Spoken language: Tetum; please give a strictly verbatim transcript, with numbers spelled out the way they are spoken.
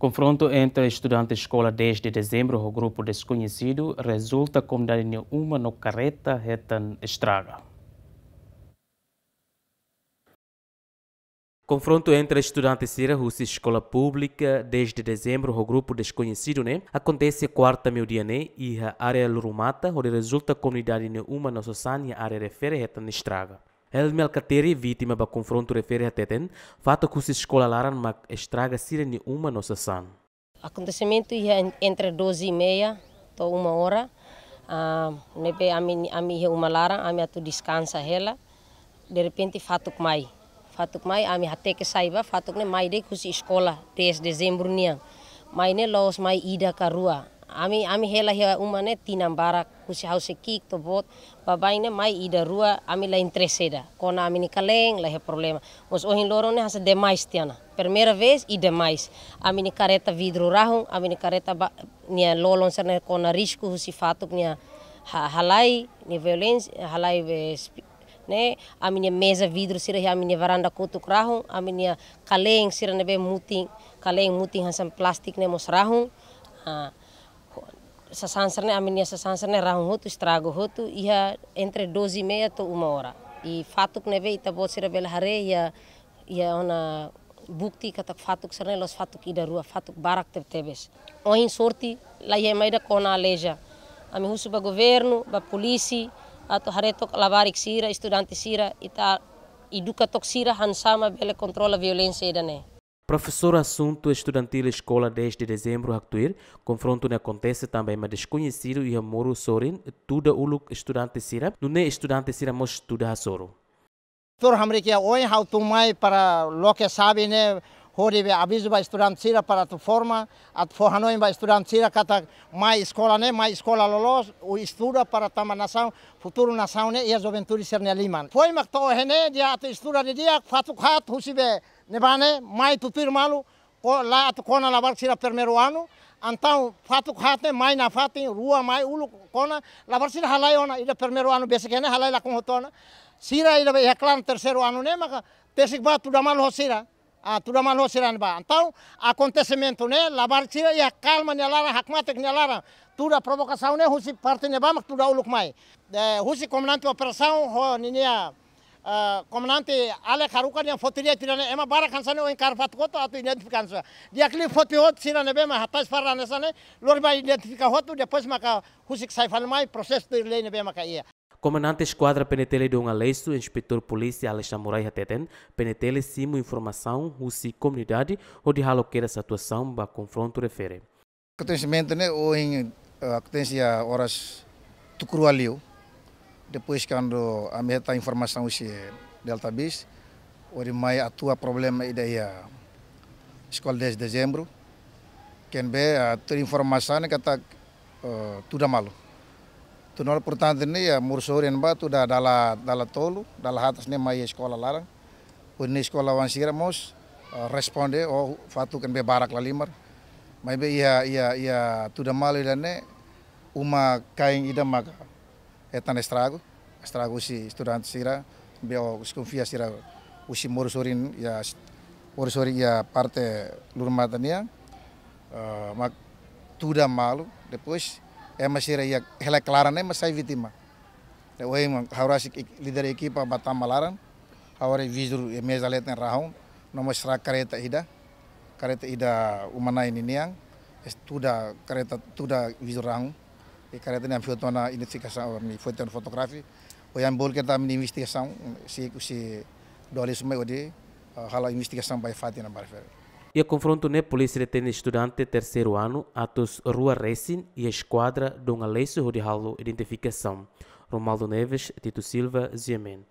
Konfrontu entre estudante eskola dez de dezembru ho grupu deskoñesidu rezulta komunidade nia uma no kareta hetan estraga. Konfrontu entre estudante sira husi eskola públika dez de dezembru ho grupu deskoñesidu ne'e akontese kuarta meiudia ne'e iha área Lurumata, hodi rezulta komunidade nia uma no sasán iha área refere hetan estraga. Helmi Alkatiri, vítima ba konfrontu refere hateten, fatuk husi eskola laran mak estraga sira-nia uma no sasán. Akontesimentu iha en-, entre doze e meia to'o uma ora. Ah, ne'ebé ami, ami iha uma laran, ami atu deskansa hela. Derrepente fatuk mai. Fatuk mai, ami hateke sai ba, fatuk ne'e mai de'it husi eskola, dez dezembru nian. Mai ne'e la'ós mai ida ka rua. Ami, ami hela iha uma ne'e tinan barak, husi ha'u sei ki'ik to'o boot, baibain ne'e mai ida rua, ami la interese ida. Kona ami-nia kalen, la iha problema. Mas ohin loron ne'e hanesan demais tiha ona. Primeira vez i demais. Ami-nia kareta vidru rahun, ami-nia kareta ba, nia lolon sira-ne'e kona risku husi fatuk nia ha-, halai, nia violénsia, halai be spi-, ne'e, ami-nia meza vidru sira iha ami-nia varanda kotuk rahun, ami-nia kalen sira ne'ebé mutin, kalen mutin hanesan plástiku ne'e mós rahun. Ah, sasán sira-ne'e, ami-nia sasán sira-ne'e rahun hotu, estragu hotu, iha entre doze e meia to'o uma ora. I fatuk ne'ebé ita-boot sira bele haree iha, iha ona bukti katak fatuk sira-ne'e la'ós fatuk ida rua, fatuk barak tebetebes. Ohin sorte, la iha ema ida kona aleija. Ami husu ba governu, ba polísia, atu haree took labarik sira, estudante sira, ita eduka took sira, hanesan mak bele kontrola violénsia ida-ne'e. Profesór Asuntu Estudantíl Eskola dez de Dezembru haktuir, konfrontu ne'e akontese tanba ema deskoñesidu iha moru sorin tuda uluk estudante sira, nune'e estudante sira mós tuda hasoru. Tuir hamriik iha oin ha'u tun mai para loke xave ne'e hodi be avizu ba estudante sira para atu forma, atu fó hanoin ba estudante sira katak mai eskola ne'e, mai eskola loloos, estuda para tama nasaun, futuru nasaun ne'e iha juventude sira-nia liman. Foin mak to'o ohin ne'e, di'ak atu estuda didi'ak, fatuk haat husi be ne'ebá ne'e, mai tutuir malu, ko-, la atu kona labarik sira primeiru anu, entaun fatuk haat ne'e mai nafatin, rua mai uluk kona, labarik sira halai ona, ida primeiru anu besik ne'e halai lakon hotu ona. Sira ida be iha klaran terseiru anu ne'e maka tesik ba tuda malu ho sira. Ah, tuda malu ho sira ne'ebá. Entaun akontesimentu ne'e, labarik sira iha kalma nia laran, hakmatek nia laran. Tuda provokasaun ne'e husi parte ne'ebá mak tuda uluk mai. Eh, husi komandante operasaun ho ninia, ah, komandante Alek haruka nia foti di'ak tiha ona, ema barak hanesan ne'e ohin kaer fatuk hotu atu identifika hanesan. Di'ak liu foti hotu sira ne'ebé mak hatais fara hanesan ne'e, lori ba identifika hotu, depois maka husik sai fali mai prosesu tuir lei ne'ebé maka iha. Komandante Eskuadra P N T L Dom Aleixo, Inspetór Polísia Alex Amorai hateten, P N T L simu informasaun husi komunidade hodi halo kedas atuasaun ba konfrontu refere. Akontesimentu ne'e ohin, eh, akontese iha oras tuku rua liu. Depois kuandu ami hetan informasaun husi Delta Bis, hodi mai atua problema ida iha Eskola dez de Dezembru. Ken be, eh, tuir informasaun ne'e katak, eh, tuda malu. Tuda malu, portantu, ne'e iha moru sorin ne'ebá tuda dala, dala tolu, dala haat hanesan ne'e mai eskola laran. Hodi nune'e eskola oan sira mós, eh, responde, oh, fatuk ne'ebé barak lahalimar. Maibé iha, iha, iha tuda malu ida-ne'e, uma-kain ida maka hetan estragu, estragu husi estudante sira, be o deskonfia sira husi moru sorin iha, moru sorin iha parte Lurumata nian, eh, mak tuda malu, depois ema sira iha hela klaran ne'e mak sai vítima. Ne'e ohin mak ha'u rasik líder ekipa ba tama laran, ha'u haree vidru iha meza leten rahun, no mós estraga kareta ida, kareta ida uma-na'in ninian, es-, tuda kareta, tuda vidru rahun. I kareta ne'e ami foti ona identifikasaun, ami foti ona fotografia. Ohin ami bolu katak ami investigasaun, sei, sei doli sumai hodi, ah, halo investigasaun ba iha fatin ne'ebá refere. Iha konfrontu ne'e polísia detene estudante terseiru anu, atus rua resin, iha eskuadra Dom Aleixo hodi halo identifikasaun. Romualdo Neves, Tito Silva, G M N.